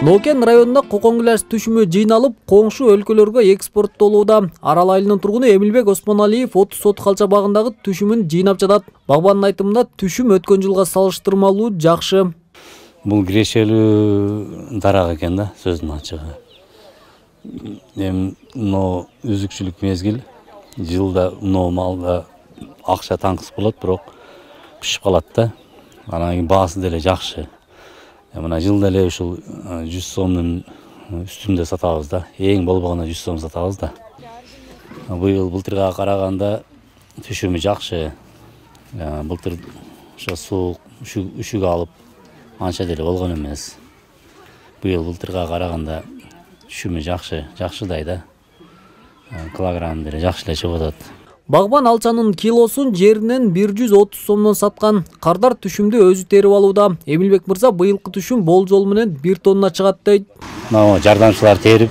Нокен районунда кокон гиляс түшүмү жыйналып, коңшу өлкөлөргө экспорттолууда. Арал айылынын тургуну Эмилбек Осмоналиев 30 сот калчабагындагы түшүмүн жыйнап жатат. Багбандын айтымында түшүм өткөн жылга салыштырмалуу жакшы. Бул кирешелүү дарак экен да, сөздүн ачыгы. Мына үзүкчүлүк мезгил, жылда мына малда акча таңкыс болот, бирок пишип калат да. Анан кийин баасы деле жакшы. Мына жылда эле ушул 100 сомдун үстүндө сатабыз да. Эң болбогондо 100 сом сатабыз да. Былтырга караганда түшүмү жакшы. Былтыр ошо суук, үшүк алып анча деле болгон эмес. Былтырга караганда түшүмү жакшыдай да. Килограмм деле жакшы эле чыгып атат. Багбан алчанын килосун жеринен 130 сомдон саткан. Кардар түшүмдү өзү терип алууда. Эмилбек мырза быйылкы түшүм болжол менен 1 тонна чыгат дейт. Жардамчылар терип,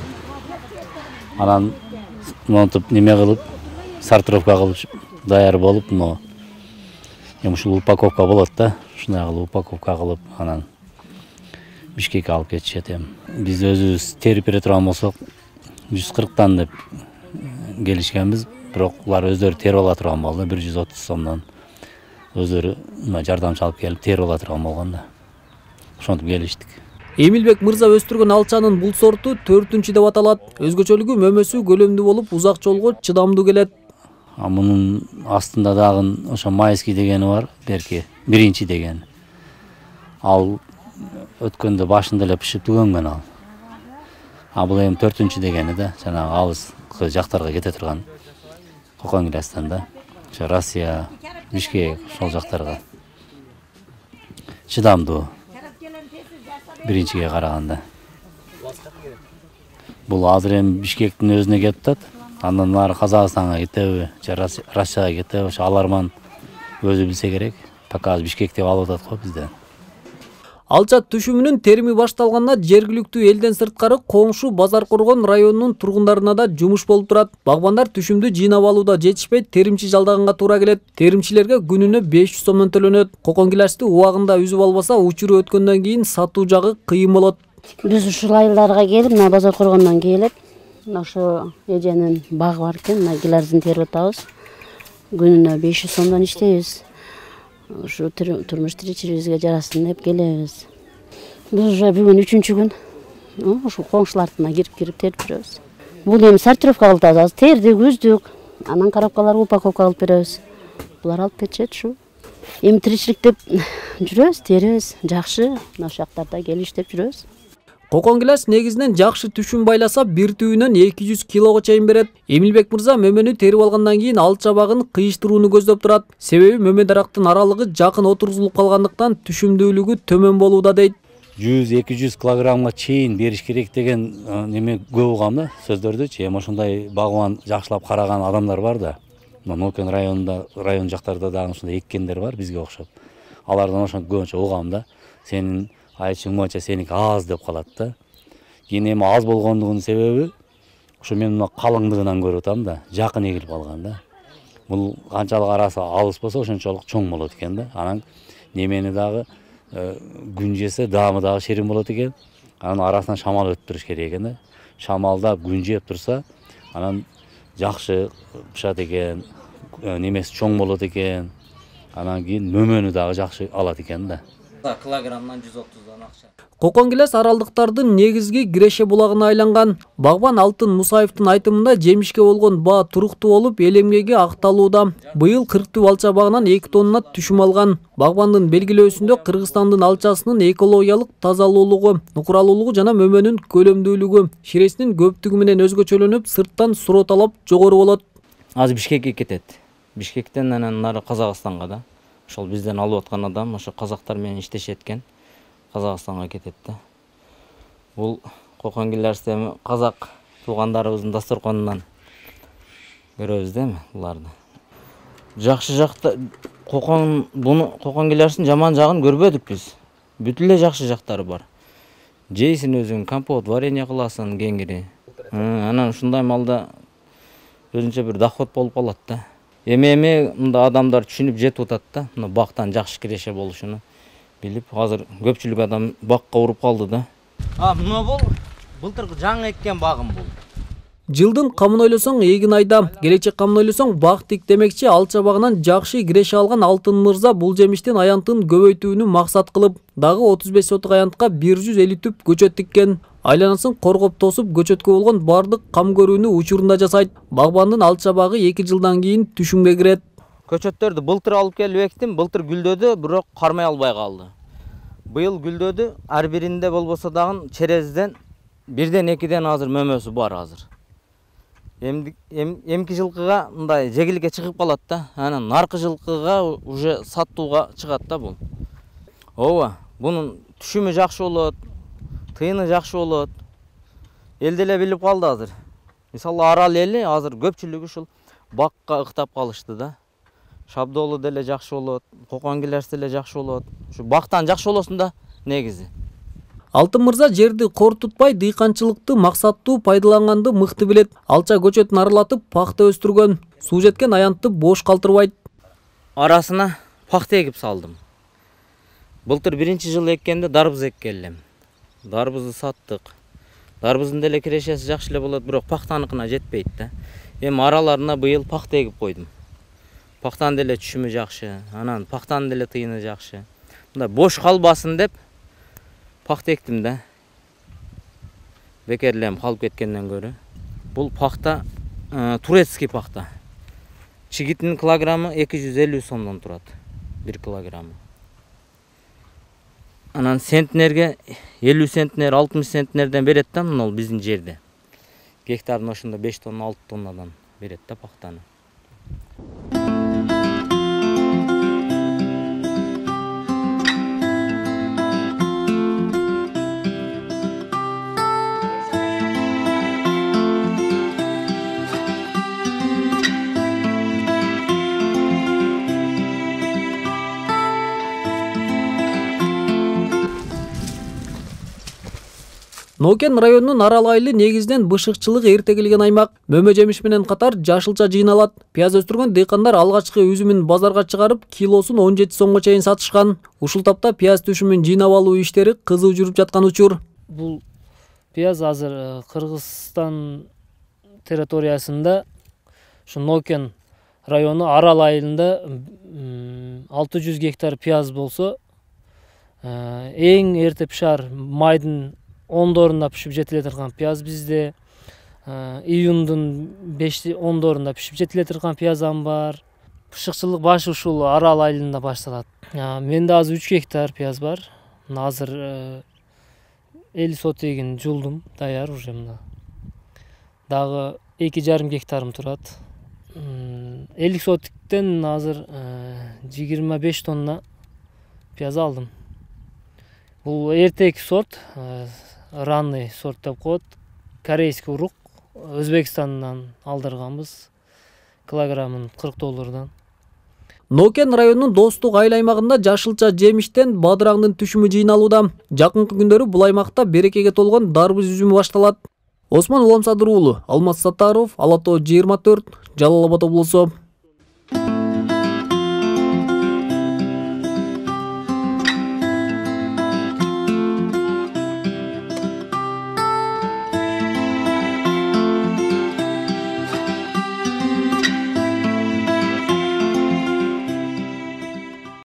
анан монтуп неме кылып, сортировка кылып даяр болуп, ушул упаковка болот да. Ушундай кылып упаковка кылып, анан Бишкекке алып кетишет эми. Биз өзүбүз терип бере турган болсок, 140тан деп келишкенбиз. Бирок улар өздөрү терип ала турган болду, 130 сомдон. Өздөрү жардамчы алып келип терип ала турган болгон да. Ошентип келиштик. Эмилбек мырза өстүргөн алчанын бул сорту 4-деп аталат. Өзгөчөлүгү мөмөсү көлөмдүү болуп, узак жолго чыдамдуу келет. Мунун астында дагы ошо майский дегени бар, берки, биринчи деген. Ал өткөндө башында эле пишип түгөнгөн ал. Бул эми 4 дегени да, жанагы алыс жактарга кете турган кокон гилястан да. Ошо Россия, Бишкек, ошол жактарга чыдамдуу. Биринчиге караганда. Бул азыр эми Бишкектин өзүнө келип атат. Андан нары Казакстанга кетеби, же Россияга кетеби, ошо аларман өзү билсе керек. Пока Бишкекте алып атат го бизде. Алча түшүмүнүн терими башталганда жергиликтүү элден сырткары коңшу Базар Коргон районунун тургундарына да жумуш болуп турат. Багбандар түшүмдү жыйнап алууда жетишпей, теримчи жалдаганга туура келет. Теримчилерге күнүнө 500 сомдон төлөнөт. Кокон гилясты убагында үзүп албаса, учуру өткөндөн кийин сатуу жагы кыйын болот. Биз ушул айылдарга келип, мына Базар Коргондон келип, ошо эженин багы бар экен, мына гилясын терип атабыз. Күнүнө 500 сомдон иштейбиз. Ушу турмуш тиричилигибизге жарасын деп келебиз. Биз уже бүгүн 3-күн ушу коңшулардына кирип терип жүрөбүз. Бул эми сортировка кылып атабыз. Тердик, үздүк, анан коробкаларга упаковка кылып беребиз. Булар алып кетишет ушу. Эми тиричилик деп жүрөбүз, терибиз, жакшы. Ошол жактарда келип иштеп жүрөбүз. Кокон гиляс негизинен жакшы түшүм байласа, бир түйүнөн 200 килого чейин берет. Эмилбек мырза мөмөнү терип алгандан кийин алча багын кыйыштырууну көздөп турат. Себеби мөмө дарактын аралыгы жакын отургузулуп калгандыктан түшүмдүүлүгү төмөн болууда дейт. 100-200 килограммга чейин бериш керек деген неме көп угам да, сөздөрдүчү. Эми ошондой багбан жакшылап караган адамдар бар да. Нокен районунда, район жактарда дагы ушундай эккендер бар бизге окшоп. Алардан ошо көбүнчө угам да. Сенин айтышың боюнча сеники аз деп калат да. Кийин эми аз болгондугунун себеби ошо мен мына калыңдыгынан көрүп атам да, жакын эгилип алган да. Бул канчалык арасы алыс болсо ошончолук чоң болот экен да. Анан немени дагы күн жесе даамы дагы шерин болот экен. Анан арасынан шамал өтүп туруш керек экен да. Шамалда күн жеп турса, анан жакшы пышат экен, немеси чоң болот экен. Анан кийин мөмөнү дагы жакшы алат экен да. Килограммдан 130дан акча. Кокон гиляс аралдыктардын негизги киреше булагына айланган. Багбан Алтын Мусаевдин айтымында жемишке болгон баа туруктуу болуп, эл эмгеги акталууда. Быйыл 40 алча багынан 2 тонна түшүм алган. Багбандын белгилөөсүндө Кыргызстандын алчасынын экологиялык тазалуулугу, нукуралуулугу жана мөмөнүн көлөмдүүлүгү, ширесинин көптүгү менен өзгөчөлөнүп, сырттан суроо талап жогору болот. Азыр Бишкекке кетет. Бишкектен анан нары Казакстанга да. Ошол бизден алып аткан адам ошо казактар менен иштешет экен. Казакстанга кетет да. Бул кокон гилясты эми казак туугандарыбыздын дасторконунан көрөбүз да эми буларды. Жакшы жакта кокон гилястын жаман жагын көрбөдүк биз. Бүт эле жакшы жактары бар. Жейсин өзүң, компот, варенье кыласың кеңири. Анан ушундай малда өзүнчө бир доход болуп калат да. Эми мында адамдар түшүнүп жетип атат да, мына бактан жакшы киреше болушуну билип, азыр көпчүлүк адам бакка уруп калды да. Мына бул былтыр жаңы эккен багым бул. Жылдын камын ойлосоң эгин айда, келечек камын ойлосоң бак тик демекчи Алча багынан жакшы киреше алган Алтын мырза бул жемиштин аянтын көбөйтүүнү максат кылып, дагы 35 сотук аянтка 150 түп көчөт тиккен. Айланасын коргоп тосуп көчөткө болгон бардык кам көрүүнү учурунда жасайт. Багбандын Алча багы 2 жылдан кийин түшүмгө кирет. Көчөттөрдү былтыр алып келип эктим, былтыр гүлдөдү, бирок кармай албай калды. Быйыл гүлдөдү, ар биринде болбосо дагы черезден 1-2 азыр мөмөсү бар азыр. Эмки жылкыга мындай жегиликке чыгып калат да, анан наркы жылкыга уже саттууга чыгат да бул. Ооба, бунун түшүмү жакшы болот, тыйыны жакшы болот. Эл деле билип калды азыр. Мисалы Арал эли азыр көпчүлүгү ушул бакка ыктап калышты да. Шабдоолу деле жакшы болот, Кокон Килерс деле жакшы болот. Ушу бактан жакшы болосун да негизи. Алтын мырза жерди кор тутпай дыйканчылыкты максаттуу пайдаланганды мыкты билет. Алча көчөтүн аралатып пахта өстүргөн. Суу жеткен аянтты бош калтырбайт. Арасына пахта эгип салдым. Былтыр 1-жыл эккенде дарбыз эккенлем. Дарбызды саттык. Дарбыздын деле кирешеси жакшы эле болот, бирок пахтаныкына жетпейт да. Эми араларына быйыл пахта эгип койдум. Пахтанын деле түшүмү жакшы, анан пахтанын деле тыйыны жакшы. Мындай бош калбасын деп пахта эктим да. Бекерлем калып кеткенден көрө. Бул пахта турецкий пахта. Чигитинин килограммы 250 сомдон турат. 1 килограммы. Анан центнерге 50 центнер, 60 центнерден берет да, мына биздин жерде. Гектардын ошондо 5 тонна, 6 тоннадан берет да пахтаны. Нокен районунун Арал айылы негизинен бышыкчылык эрте келген аймак. Мөмө жемиш менен катар жашылча жыйналат. Пияз өстүргөн дыйкандар алгачкы üzүмүн базарга чыгарып, килосун 17 сомго чейин сатышкан. Ушул тапта пияз түшүмүн жыйнап алуу иштери кызуу жүрүп жаткан учур. Бул пияз азыр Кыргызстан территориясында, ушу Нокен району Арал айылында 600 гектар пияз болсо, эң эрте пишар майдын 10-дорунда пишип жетиле турган пияз бизде, июндун 5-10-дорунда пишип жетиле турган пиязам бар. Бышыкчылык башы ушул Арал айылында башталат. Менде азыр 3 гектар пияз бар. Азыр 50 сот эгин жулдум, даяр уже мына. Дагы 2,5 гектарым турат. 50 сотиктен азыр 25 тонна пияз алдым. Бул эртеки сорт, ранный сорт деп коет. Корейский урук, Өзбекстандан алдырганбыз. Килограммын $40. Нокен районунун Достук айыл аймагында жашылча жемиштен бадыраңдын түшүмү жыйналууда. Жакынкы күндөрү бул аймакта берекеге толгон дарбыз üzүмү башталат. Осмон Уламсадыр уулу, Алмаз Саттаров, Ала Тоо 24, Жалал Абад облусу.